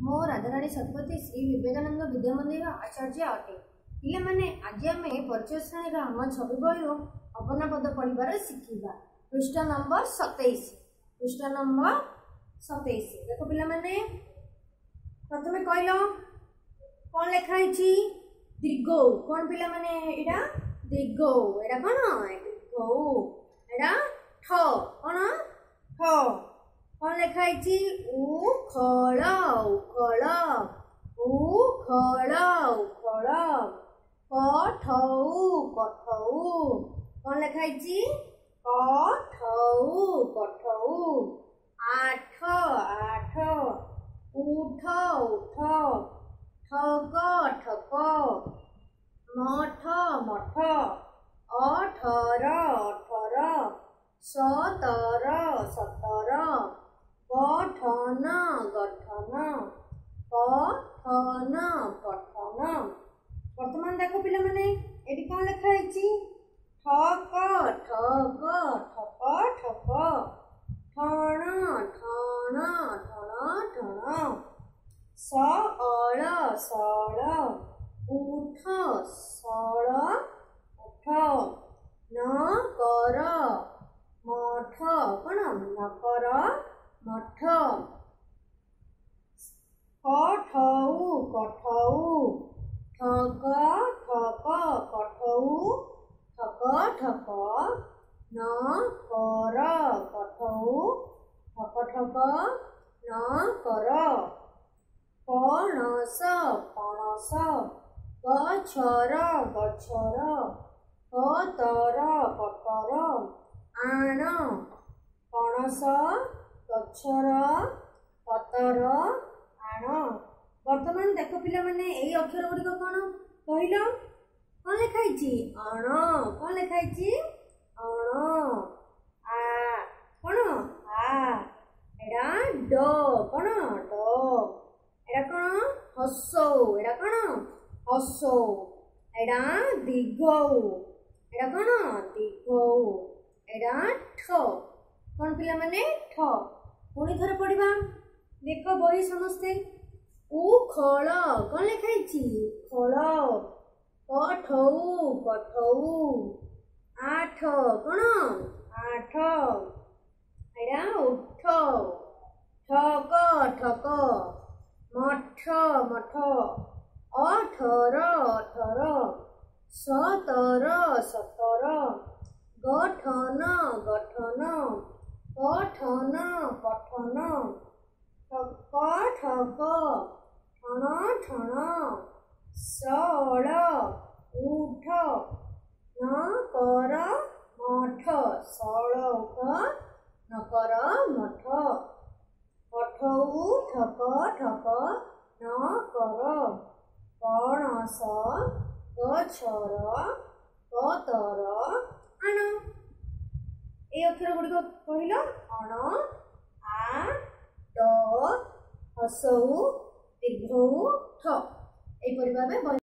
ମୁଁ ରାଧାରାଣୀ ଶତପଥୀ ଶ୍ରୀ ବିବେକାନନ୍ଦ ବିଦ୍ୟା ମନ୍ଦିର ଆଚାର୍ଯ୍ୟ ଅଟେ। ପିଲାମାନେ, ଆଜି ଆମେ ପରିଚୟ ଶ୍ରେଣୀର ଆମ ଛବି ବହିରୁ ଅପର୍ଣ୍ଣା ପଦ ପଢ଼ିବାର ଶିଖିବା। ପୃଷ୍ଠା ନମ୍ବର 27, ପୃଷ୍ଠା ନମ୍ବର 27। ଦେଖ ପିଲାମାନେ, ପ୍ରଥମେ କହିଲ କ'ଣ ଲେଖା ହେଇଛି? ଦୀର୍ଘ। କ'ଣ ପିଲାମାନେ ଏଇଟା? ଦୀର୍ଘ। ଏଇଟା କ'ଣ? ଦୀର୍ଘ। ଏଇଟା ଠ। କ'ଣ ଠ? କ'ଣ ଲେଖା ହେଇଛି? ଉଖଳ, ଉଖଳ, ଉଖଳ, ଉଖଳ। କଠଉ, କଠଉ। କ'ଣ ଲେଖା ହେଇଛି? କଠଉ, କଠଉ। ଆଠ, ଆଠ। ଉଠ, ଉଠ। ଠକ, ଠକ। ମଠ, ମଠ। 18, 18। 17, 17। ଗଠନ, ଗଠନ। ପଠନ, ପଠନ। ବର୍ତ୍ତମାନ ଦେଖ ପିଲାମାନେ, ଏଠି କ'ଣ ଲେଖା ହେଇଛି? ଠକ, ଠକ, ଠକ, ଠକ। ଠଣ, ଠଣ, ଠଣ, ଠଣ। ସଅଳ, ସଅଳ। ଉଠ, ସଳ, ଉଠ। ନ କର ମଠ। କ'ଣ? ନକର ମଠ। କଠଉ, କଠଉ। ଠକ, ଠକ, କଠଉ, ଠକ, ଠକ। ନ କର କଠଉ, ଠକ, ଠକ, ନ କର। ପଣସ, ପଣସ। ଗଛର, ଗଛର। ପତର, ପତର। ଆଣ। ପଣସ, ଗଛର, ପତର, ଆଣ। ବର୍ତ୍ତମାନ ଦେଖ ପିଲାମାନେ, ଏଇ ଅକ୍ଷର ଗୁଡ଼ିକ କ'ଣ କହିଲ? କ'ଣ ଲେଖା ହେଇଛି? ଅଣ। କ'ଣ ଲେଖା ହେଇଛି? ଅଣ। ଆ। କ'ଣ ଆ? ଏଇଟା ଡ। କ'ଣ ଡ? ଏଇଟା କ'ଣ? ହସଉ। ଏଇଟା କ'ଣ? ହସଉ। ଏଇଟା ଦୀର୍ଘ। ଏଇଟା କ'ଣ? ଦୀର୍ଘ। ଏଇଟା ଠ। କ'ଣ ପିଲାମାନେ? ଠ। ପୁଣି ଥରେ ପଢିବା। ଦେଖ ବହି ସମସ୍ତେ। ଉଖଳ। କ'ଣ ଲେଖା ହେଇଛି? ଖଳ। କଠଉ, କଠଉ। ଆଠ। କ'ଣ ଆଠ? ଏଇଟା ଉଠ। ଠକ, ଠକ। ମଠ, ମଠ। 18, 18। 17, 17। ଗଠନ, ଗଠନ। ପଠନ, ପଠନ। ଠକ, ଠକ। ଠଣ, ଠଣ। ସଅଳ, ଉଠ। ନ କର ମଠ। ସଅଳ ଉଠ, ନ କର ମଠ। କଠଉ, ଠକ, ଠକ, ନ କର। ପଣସ, ଗଛର, ପତର, ଆଣ। ଏଇ ଅକ୍ଷର ଗୁଡ଼ିକ କହିଲ? ଅଣ, ଆ, ଡ, ହସଉ, ଦୀର୍ଘଉ, ଠ। ଏହିପରି ଭାବେ ବହି